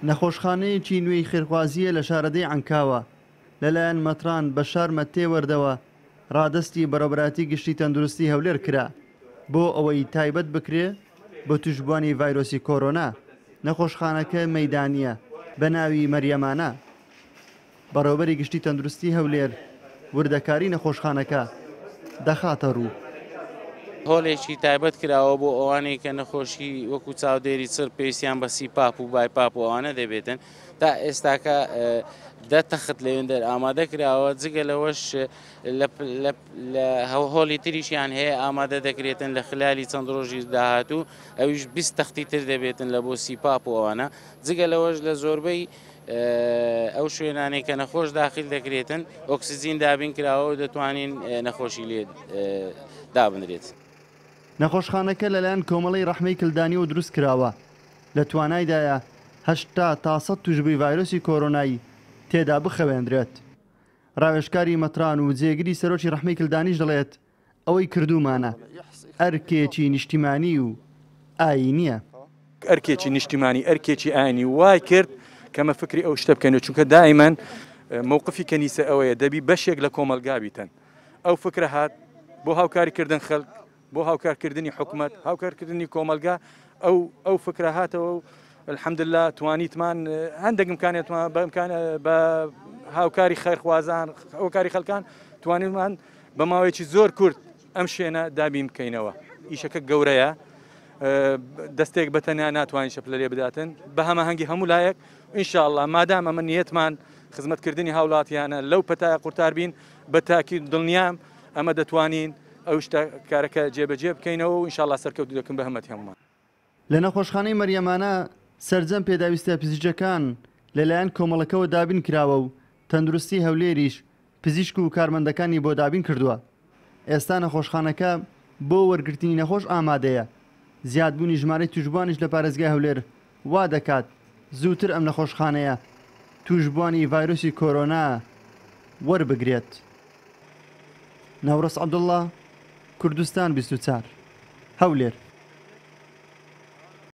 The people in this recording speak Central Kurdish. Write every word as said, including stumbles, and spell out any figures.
نەخۆشخانەیەکی نوێی خێرخوازییە لە شارەدێی عەنکاوە لەلایەن مەتران بەشار مەتێوەردەوە ڕادەستی بەڕێوەبەرایەتی گشتی تەندروستی هەولێر کرا بۆ ئەوەی تایبەت بکرێ بە توشبووانی ڤایرۆسی کۆرۆنا. نەخۆشخانەکە مەیدانییە بە ناوی مەریەمانە. بەڕێوەبەری گشتی تەندروستی هەولێر وردەکاری نەخۆشخانەکە دەخاتە ڕوو. هۆلێکی تایبەت کراوە بۆ ئەوانەی کە نەخۆشی وەکو چاودێری چڕ پێویستیان بە CPAP و BiPAP و ئەوانە دەبێتن. تا ئێستاکە دە تەخت لەوێندەر ئامادە کراوە، جگە لەوەش لە هۆڵی تریشیان هەیە ئامادە دەکرێتن لە خلالی چەند ڕۆژی داهاتوو، ئەویش بیست تەختی تر دەبێتن لە بۆ CPAP و ئەوانە. جگە لەوەش لە زۆربەی ئەو شوێنانەی کە نەخۆش داخل دەکرێتن ئۆکسجین دابین کراوە و دەتوانین نەخۆشی لێ دابنرێت. نەخۆشخانەکە لەلایەن کۆمەڵەی ڕەحمەی کلدانیەوە دروست کراوە، لە توانایدایە هەشتا تا سەد توشبووی ڤایرۆسی کۆرۆنای تێدا بخەوێندرێت. ڕاوێژکاری مەتران و جێگری سەرۆکی ڕەحمەی کلدانیش دەڵێت ئەوەی کردومانە ئەرکێکی نیشتیمانی و ئاینیە. ئەرکێکی نیشتیمانی ئەرکێکی ئاینی وای کرد کەمە فکری ئەو شتە بکەین، چونکە دائیمەن مووقفی کەنیسە ئەوەیە دەبی بەشێک لە کۆمەلگا بیتن. ئەو فکرە هات بۆ هاوکاریکردن خەڵک، بۆ هاوکارکردنی حکومەت، هاوکارکردنی کۆمەلگا، ئەو ئەو فکرە هاتەوە و الحەمدلله توانیتمان هەندێک ئیمکانیەتمان بە هاوکاری خێرخوازان، هاوکاری خەڵکان توانیمان بە ماوەیەکی زۆر کورت ئەم شوێنە دابین بکەینەوە. ئیشەکە گەورەیە، دەستێک بە تەنیا ناتوانین شەپلە لێ بداتن، بە هەماهەنگی هەموو لایەک ئینشاءڵڵا مادام ئەمە نیەتمان خزمەتکردنی هاوڵاتیانە لەو پەتایە قورتار بین، بە تاکی دڵنیام ئەمە دەتوانین ئەو شتە کارەکە جێبەجێ بکەینەوە و ئینشاءڵڵا سەرکەوتوو دەکەن بە هەمەتی هەمومان. لە نەخۆشخانەی مەریەمانە سەرجەم پێداویستە پزیشکەکان لەلایەن کۆمەڵەکەوە دابین کراوە و تەندروستی هەولێریش پزیشک و کارمەندەکانی بۆ دابین کردووە. ئێستا نەخۆشخانەکە بۆ وەرگرتنی نەخۆش ئامادەیە. زیادبوونی ژمارەی توشبووانیش لە پارێزگای هەولێر وا دەکات زووتر ئەم نەخۆشخانەیە توشبووانی ڤایرۆسی کۆرۆنا وەربگرێت. نەورەس عەبدوڵڵا، کوردستان بیست و چوار، هەولێر.